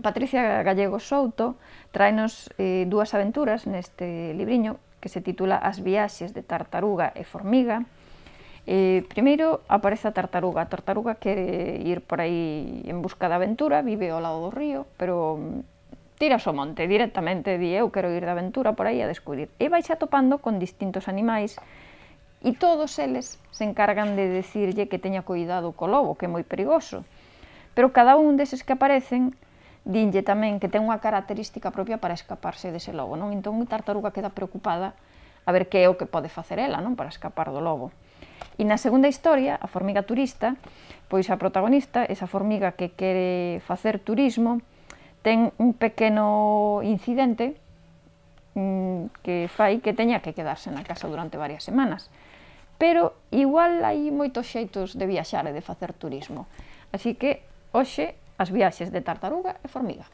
Patricia Gallego Souto traenos dúas aventuras neste libriño que se titula As viaxes de tartaruga e formiga. Primeiro aparece a tartaruga quere ir por aí en busca da aventura, vive ao lado do río, pero tiras ao monte directamente, di eu quero ir de aventura por aí a descubrir. E vai xa topando con distintos animais e todos eles se encargan de decirlle que teña cuidado co lobo, que é moi perigoso. Pero cada un deses que aparecen dinlle tamén que ten unha característica propia para escaparse dese lobo, non? Entón a tartaruga queda preocupada a ver que é o que pode facer ela, non? Para escapar do lobo. E na segunda historia, a formiga turista, pois a protagonista, esa formiga que quere facer turismo, ten un pequeno incidente que fai que teña que quedarse na casa durante varias semanas. Pero igual hai moitos xeitos de viaxar e de facer turismo. Así que hoxe as viaxes de tartaruga e formiga.